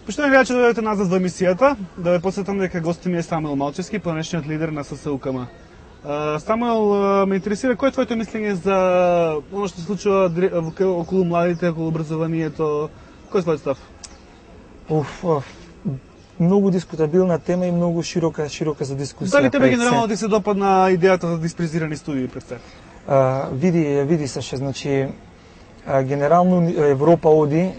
Поштовани гледачи, да дојдете назад во емисијата, да ве посетам дека гостот ми е Самуил Малчевски, понешниот лидер на ССУКМ. Самуил, ме интересира кој е твоето мислење за оно што се случува околу младите, околу образованието? Кој е твојот став? Многу дискутабилна тема и многу широка за дискусија. Дали тебе генерално ти се допадна идејата за диспрезирани студии пред се? Види се, значи генерално Европа оди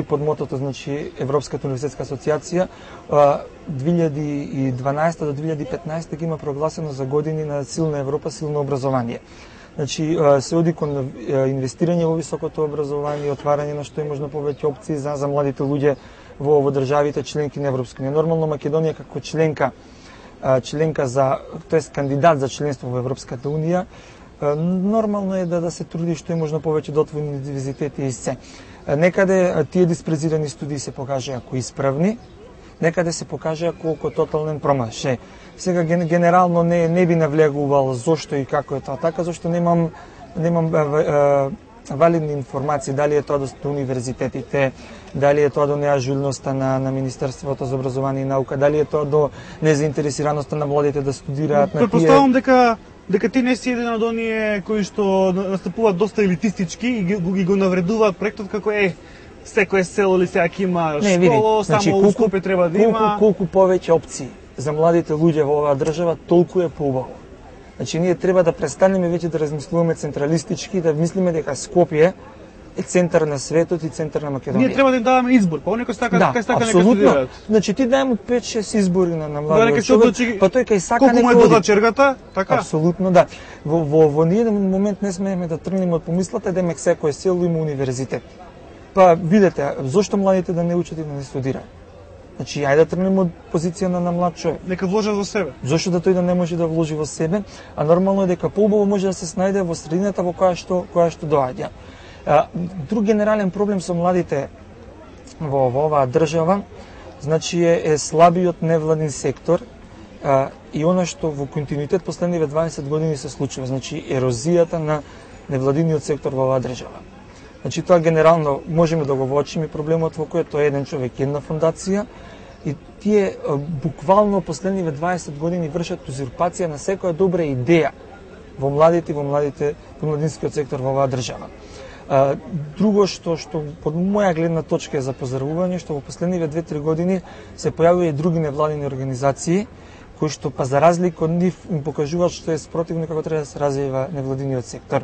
под мотото, значи Европската универзитетска асоциација 2012 до 2015 ги има прогласено за години на силна Европа, силно образование. Значи се оди кон инвестирање во високото образование, отварање на што е можно повеќе опции за младите луѓе во државите членки на Европска унија. Нормално Македонија како членка за, тоест кандидат за членство во Европската унија, нормално е да се труди што е можно повеќе да отвори универзитети и се. Некаде тие диспрезирани студии се покажаа како исправни, некаде се покажаа колку тотален промашај. Сега генерално не би навлегувал зошто и како е тоа така, зашто немам валидни информации, дали е тоа до универзитетите, дали е тоа до неажурноста на Министерството за образование и наука, дали е тоа до незаинтересираноста на младите да студираат на тие. Претпоставувам дека ти не си еден од оние кои што настапуваат доста елитистички и ги го навредуваат проектот како секое село или сега има школа, само у Скопје треба да има. Колку повеќе опции за младите луѓе во оваа држава, толку е поубаво. Значи ние треба да престанеме веќе да размислуваме централистички и да мислиме дека Скопје е центар на светот и центар на Македонија. Ние треба да им даваме избор, па некој сака нека студираат. Значи ти дај му 5-6 избори на младиот човек, па тој кај сака колку му е до чергата, така? Апсолутно да. Во ниеден момент не смееме да тргнеме од помислата дека секој село има универзитет. Па видете, зошто младите да не учат и да не студираат? Значи, ајде да тргнеме од позиција на млад човек. Нека вложат во себе. Зошто да тој да не може да вложи во себе, а нормално е дека поубаво може да се снајде во средината во која што доаѓа. Друг генерален проблем со младите во оваа држава, значи е слабиот невладин сектор и она што во континуитет последниве 20 години се случува, значи ерозијата на невладиниот сектор во оваа држава. Значи тоа генерално можеме да го воочиме проблемот во кој тоа е еден човек, една фондација и тие буквално последниве 20 години вршат узурпација на секоја добра идеја во младинскиот сектор во оваа држава. Друго што под моја гледна точка е за поздравување, што во последниве 2-3 години се појавија и други невладини организации кои што па за разлика од нив им покажуваат што е спротивно како треба да се развива невладиниот сектор.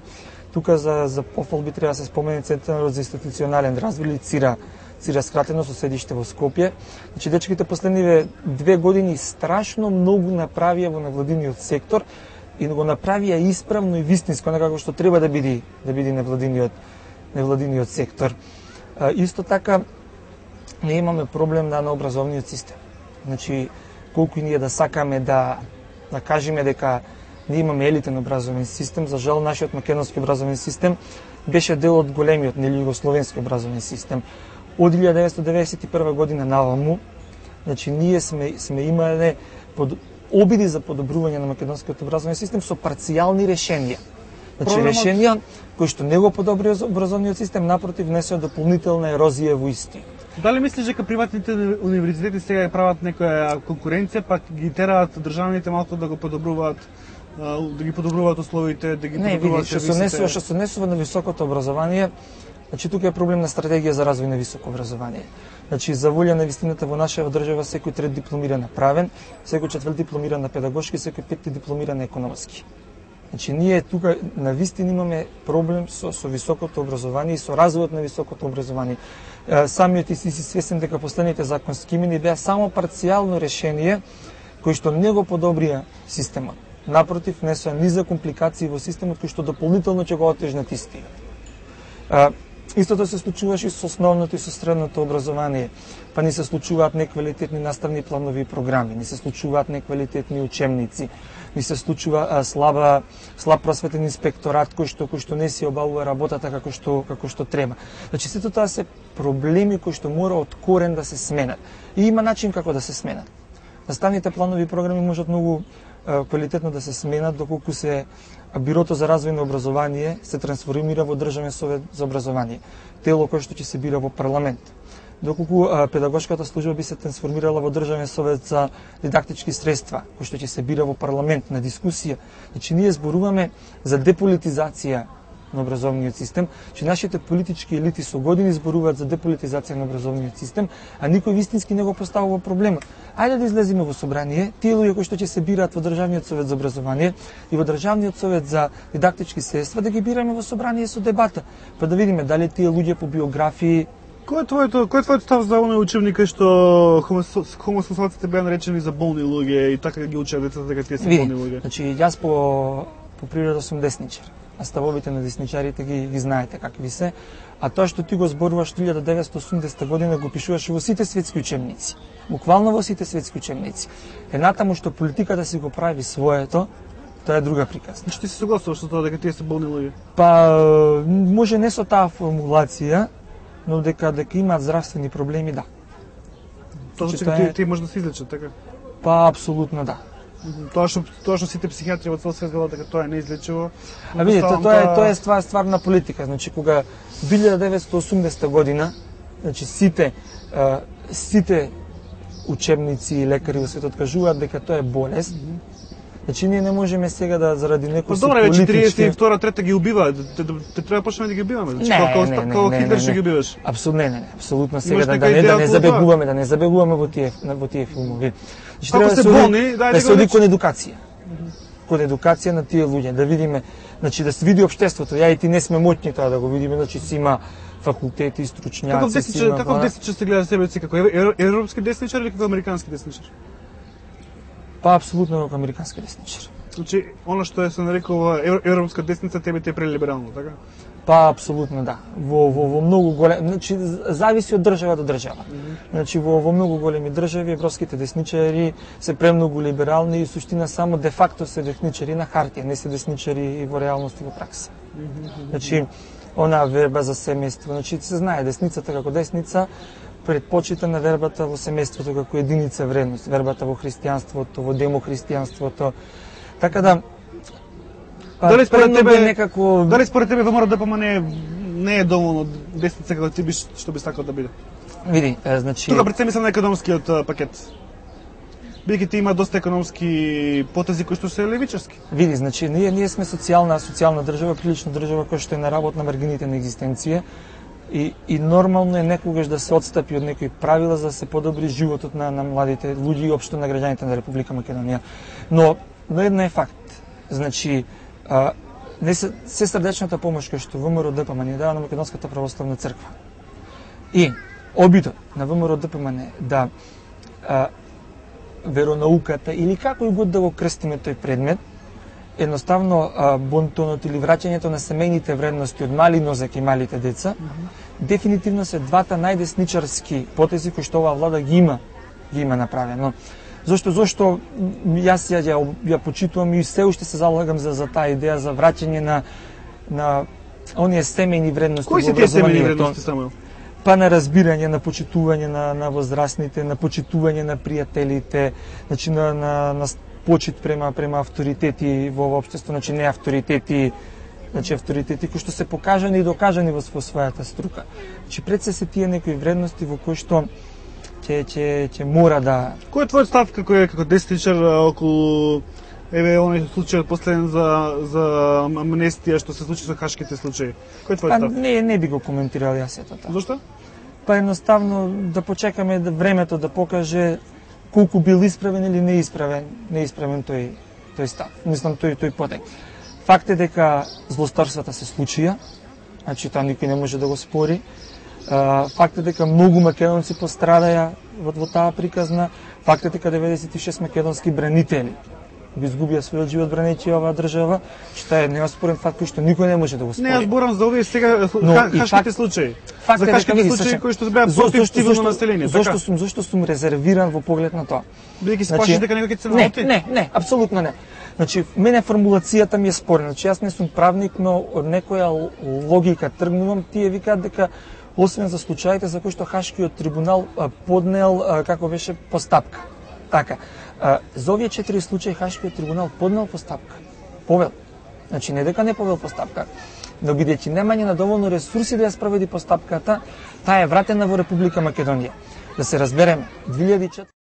Тука за пофалби треба да се спомене Центарот за институционален развој или ЦИРА скратено со седиште во Скопје. Значи дечките последниве 2 години страшно многу направија во невладиниот сектор и го направија исправно и вистинско, како што треба да биде невладиниот сектор. Исто така не имаме проблем на образовниот систем. Значи колку и ние да сакаме да кажеме дека ние имаме елитен образовен систем, за жал нашиот македонски образовен систем беше дел од големиот югословенски образовен систем. Од 1991 година наваму, значи ние сме имале обиди за подобрување на македонскиот образовен систем со парцијални решенија. Значи решенија кои што не го подобри образовниот систем, напротив внесоа дополнителна ерозија во истиот. Дали мислиш дека приватните универзитети сега прават некоја конкуренција, пак ги тераат државните малку да го подобруваат, да ги подобруваат условите, да ги подобруваат сервисите? Што се однесува на високото образование, значи тука е проблем на стратегија за развој на високо образование. Значи за волја на вистината во нашава држава секој трет дипломиран на правен, секој четврт дипломиран на педагошки, секој петти дипломиран на економски. Значи ние тука на вистина имаме проблем со високото образование и со развојот на високото образование. Самиот ти си свесен дека последните законски измени беа само парцијално решение кои што не го подобрија системот. Напротив, внесоа низа компликации во системот кои што дополнително ќе го отежнат истиот. Истото се случуваше и со основното и со средното образование. Па ни се случуваат неквалитетни наставни планови и програми, ни се случуваат неквалитетни учебници, ни се случува слаб просветен инспекторат кој што не си обавува работата како што треба. Значи сето тоа се проблеми кои што мора од корен да се сменат. И има начин како да се сменат. Наставните планови и програми можат многу квалитетно да се сменат доколку се Бирото за развој на образование се трансформира во Државен совет за образование, тело кое што ќе се бира во парламент. доколку педагошката служба би се трансформирала во Државен совет за дидактички средства, кој што ќе се бира во парламент на дискусија. Значи ние зборуваме за деполитизација на образовниот систем, че нашите политички елити со години зборуваат за деполитизација на образовниот систем, а никој вистински не го поставува проблемот. Ајде да излеземе во собрание, тие луѓе кои што ќе се бираат во Државниот совет за образование и во Државниот совет за дидактички средства, да ги бираме во собрание со дебата, па да видиме дали тие луѓе по биографии. Кој е твоето став за оној учебник што хомосексуалците беа наречени за болни луѓе и така ги учат децата дека тие се болни луѓе? Значи јас по природа сум десничар, а ставовите на десничарите ги знаете какви се, а тоа што ти го зборуваш 1980 година го пишуваш во сите светски учебници. Буквално во сите светски учебници. Едната му што политиката си го прави своето, тоа е друга приказна. Значи ти се согласуваш со тоа дека тие се болни луѓе? Па може не со таа формулација, но дека имаат здравствени проблеми, да. Тоа значи тие може да се излечат, така? Па апсолутно да. Тоа што сите психијатри во цел свет велат дека тоа е неизлечиво. А видите, тоа е стварна политика. Значи кога 1980 година, значи сите учебници и лекари во светот кажуваат дека тоа е болест. Значи ние не можеме сега да заради некој си политички... Добре, 42-3 ги убиваат. Те треба почнеме да ги убиваме. Значи како Хитлер ќе ги убиваш. Апсолутно сега да не забегуваме во тие филмови. Значи треба да се оди кон едукација. Кон едукација на тие луѓе, да видиме, значи да се види општеството. Ја и ти не сме моќни тоа да го видиме, значи си има факултети, стручњаци. Каков десничар се гледа себе си, како европски десничар или како американски десничар? Па апсолутно како американски десничар. Значи, она што се нарекува европска десница, тебе те е прелиберално, така? Па апсолутно да. Во многу големи, значи зависи од држава до држава. Значи во многу големи држави европските десничари се премногу либерални и суштина само де факто се десничари на хартија, не се десничари и во реалност и во пракса. Значи онаа верба за семејство, значи се знае десницата како десница предпочита на вербата во семејството како единица вредност, вербата во христијанството, во демохристијанството. Така да дали според тебе ВМРО-ДПМН не е доволно десница како ти што би сакал да биде? Види, значи тука пред се мислам на економскиот пакет. Бидејќи ти има доста економски потези кои што се левичарски. Види, значи ние сме социјална држава, прилично држава која што е на работ на маргините на екзистенција. И нормално е некогаш да се отстапи од некои правила за да се подобри животот на младите луѓе и општо на граѓаните на Република Македонија. Но едно е факт. Значи се срдечната помош која што ВМРО-ДПМН дава на Македонската православна црква. И обидот на ВМРО-ДПМН да веронауката или како и год да го крстиме тој предмет, едноставно бонтонот или враќањето на семејните вредности од мали нозак и малите деца, дефинитивно се двата најдесничарски потези кои што оваа влада ги има направено. Зошто јас ја почитувам и се уште се залагам за таа идеја за враќање на оние семејни вредности во образованието. Кои се тие семејни вредности, Самуел? Па на разбирање, на почитување на возрастните, на почитување на пријателите, значи на почит према авторитети во општество, значи не авторитети, значи авторитети кои што се покажани и докажани во својата струка. Значи пред се тие некои вредности во кои што ќе мора да... Кој е твојот став како десничар околу оној случај последен за амнестија што се случи со хашките случаи? Кој е твојот став? Не би го коментирал јас ето тоа. Зошто? Па едноставно да почекаме времето да покаже колку бил исправен или неисправен тој став. Мислам тој потек. Факт е дека злосторствата се случија, значи тоа никој не може да го спори. Факт е дека многу македонци пострадаја во таа приказна. Факт е дека 96 македонски бранители го изгубија својот живот бранејќи оваа држава, што е неоспорен факт кој што никој не може да го спори. Не, јас зборам за овие сега хашките случаи. За хашките случаи кои што беа против цивилно население, така? Зошто сум резервиран во поглед на тоа? Бидејќи се плашиш дека некој ќе се наоти? Не, апсолутно не. Значи, мене формулацијата ми е спорна. Значи, јас не сум правник, но од некоја логика тргнувам. Тие викаат дека освен за случаите за кои што Хашкиот трибунал поднел како беше постапка. Така. За овие 4 случаи Хашкиот трибунал поднел постапка. Повел. Значи не дека не повел постапка. но бидејќи немање на доволно ресурси да ја спроведи постапката, таа е вратена во Република Македонија. Да се разбереме, 2004